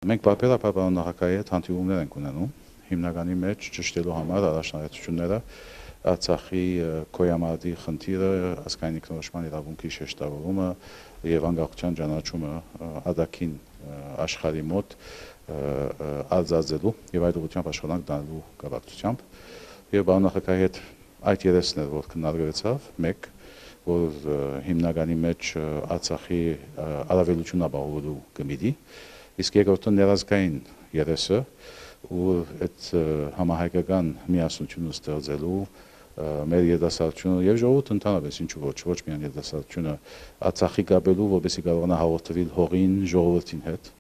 Մենք պարբերաբար պարոն նախագահի հետ հանդիպումներ ենք ունենում, հիմնականի մեջ ճշտելու համար առաջնահերթությունները Արցախի գոյամարդի խնդիրը, ազգային ինքնորոշման իրավունքի շեշտավորումը եւ անկախության ճանաչումը արտաքին աշխարհի մոտ արձածելու եւ այդ ուղղությամբ աշխատանք դառնալու կապակցությամբ եւ պարոն նախագահի հետ այդ երեսն էր, որ քննարկվեցավ, մեկ որ հիմնականի մեջ Արցախի առավելություն ապահովելու գմիդի, իսկ երկրորդը ներազգային երեսը, ու այդ համահայկական միասնությունը ստեղծելու մեր երիտասարդությունը եւ ժողովուրդը ընդհանրապես ինչու ոչ միայն երիտասարդությունը Արցախի գաբելու, որպեսզի կարողանա հաղորդել հողին, ժողովրդին հետ